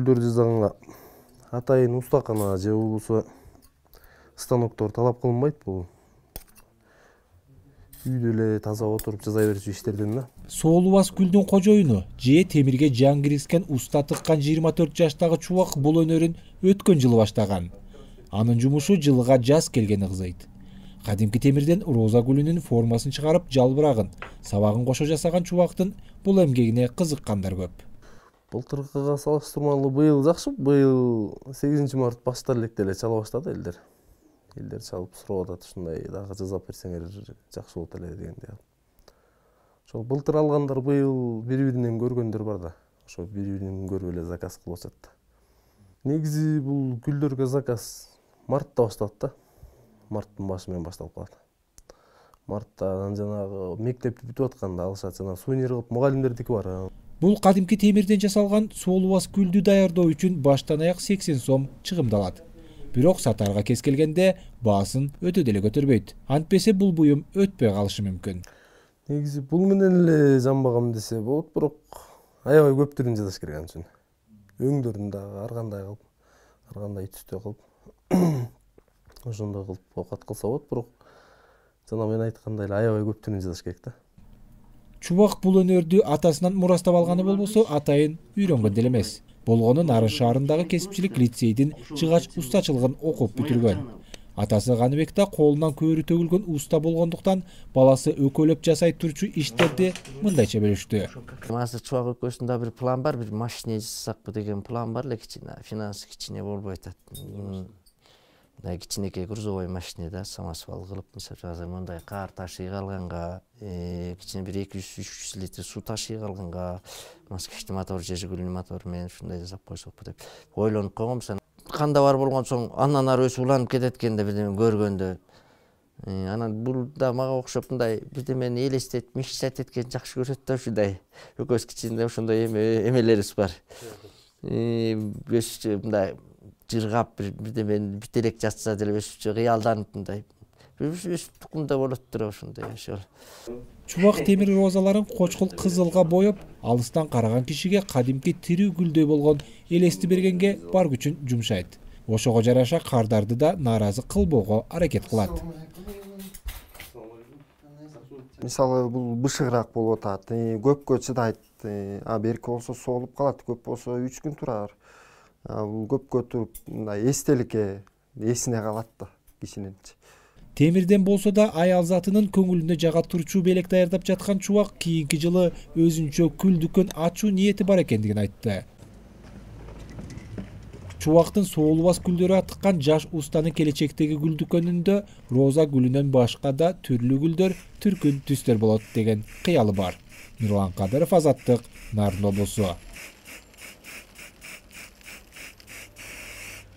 гүлдөр жасаганга атайын устакана же болбосо станоктор талап кылынбайт. Бул үйдө эле таза отуруп жасай берчү иштерден да. Соолубас гүлдүн кожоюну же темирге жан киргизген уста тыккан 24 жаштагы Чубак бул өнөрүн өткөн жылы баштаган. Анын жумушу жылга жаз келгени кызыйт. Кадимки темирден роза гүлүнүн формасын чыгарып, жалбырагын, сабагын кошо жасаган Чубактын бул эмгегине кызыккандар көп. Былтыркыга салыштырмалуу быйыл жакшы. Быйыл 8 март баштар электе эле чала баштады элдер. Элдер чалып сурап атат, ушундай дагы жасап берсеңер жакшы болот эле дегендей. Ошо былтыр алгандар быйыл бири-биринен көргөндөр бар да. Ошо бири-биринен көрүп эле заказ кылып атат. Негизи бул гүлдөргө заказ мартта башталат да. Марттын башы менен башталып калат. Марттан жанагы мектеп бүтүп атканда алышат, жана сувенир кылып мугалимдердики бар. Бул кадимки темирден жасалган соолубас гүлдү даярдоо үчүн баштан аяк 80 сом чыгымдалат. Бирок сатарга кез келгенде баасын өтө деле көтөрбөйт. Антпесе бул буюм өтпөй калышы мүмкүн. Негизи бул менен эле жанбагам десе болот, бирок аябай көп түрүн жасаш керек ан үчүн. Өңдөрүн дагы ар кандай түстө кылып ошондой кылып оокат кылса болот, бирок жана мен айткандай эле аябай көп түрүн жасаш керек да. Чубак бул өнөрдү атасынан мурастап алганы болбосо, атайын үйрөнгөн деле эмес. Болгону Нарын шаарындагы кесипчилик лицейдин жыгач устачылыгын окуп бүтүргөн. Атасы Каныбек да колунан көөрү төгүлгөн уста болгондуктан баласы өкөлөп жасай турчу иштерди мындайча бөлүштү. Азыр Чубак өкөсүндө бир план бар, бир машина жасасакпы деген план бар эле, кичине финансы кичине болбой атат. Кичинекей грузовой машина да, самосвал кылып, мисалы азыр мындай кар ташый калганга, кичине бир 200-300 литр суу ташый калганга, москвичтин мотор же Жигулинин мотору менен ушундай жасап койсокпу деп ойлонуп койгом. Канда бар болгон соң андан ары өсүп уланып кетет экен деп көргөндө. Анан бул да мага окшоп мындай бирдемени элестетип, мечтать эткен жакшы көрөт да, ушундай өкөс кичинде ошондой эмелерибиз бар. Өсүчү мындай жыргап бирдемени бүт элек жатса деле өсүчү кыялданып мындай өсүп тукумда болот тура ошондой ошол. Чубак темир розаларын кочкул кызылга боеп, алыстан караган кишиге кадимки тирүү гүлдөй болгон элести бергенге бар күчүн жумшайт. Ошого жараша кардарды да нааразы кылбоого аракет кылат. Мисалы бул бышыгыраак болуп атат, көпкө чыдайт, берки болсо соолуп калат, көп болсо 3 күн турар. Бул көпкө туруп мындай эстеликке эсине калат да кишинин. Темирден болсо да аял затынын көңүлүнө жага турчу белек даярдап жаткан Чубак кийинки жылы өзүнчө гүл дүкөн ачуу ниети бар экендигин айтты. Чубактын соолубас гүлдөрү атыккан жаш устанын келечектеги гүл дүкөнүндө роза гүлүнөн башка да түрлүү гүлдөр, түркүн түстөр болот деген кыялы бар. Нурлан Кадыров, Азаттык, Нарын облусу.